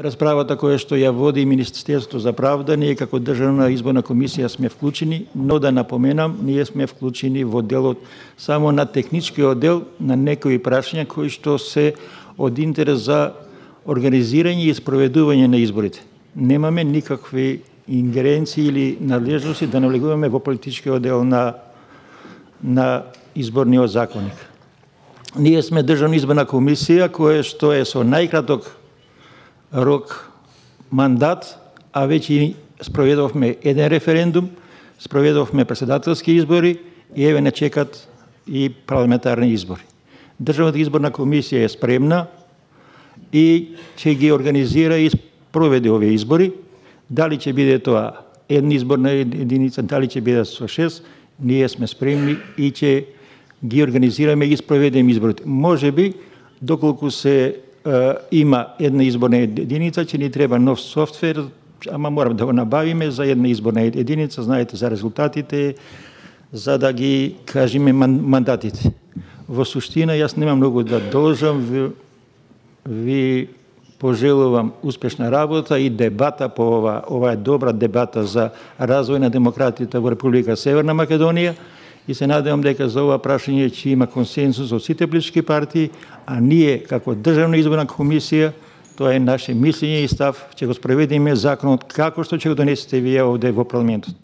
Расправата која што ја води Министерството за правда, ние како Државна изборна комисија сме вклучени, но да напоменам, ние сме вклучени во делот само на техничкиот дел на некои прашања кои што се од интерес за организирање и спроведување на изборите. Немаме никакви ингеренции или надлежности да навлегуваме во политичкиот дел на изборниот законник. Ние сме Државна изборна комисија која што е со најкраток рок мандат, а веќе спроведовме еден референдум, спроведовме председателски избори и еве не чекат и парламентарни избори. Државната изборна комисија е спремна и ќе ги организира и проведе овие избори. Дали ќе биде тоа една изборна единица, дали ќе биде со 6, ние сме спремни и ќе ги организираме и спроведеме изборите. Можеби, доколку се има една изборна единица, ќе ни треба нов софтвер, ама морам да го набавиме за една изборна единица, знаете за резултатите, за да ги кажеме мандатите. Во суштина, јас немам многу да должам, ви пожелувам успешна работа и дебата по ова е добра дебата за развој на демократијата во Република Северна Македонија и се надевам дека за ова прашање ќе има консенсус од сите политички партии, а ние како Државна изборна комисија, тоа е наше мислење и став, ќе го спроведеме законот како што ќе го донесете вие овде во парламентот.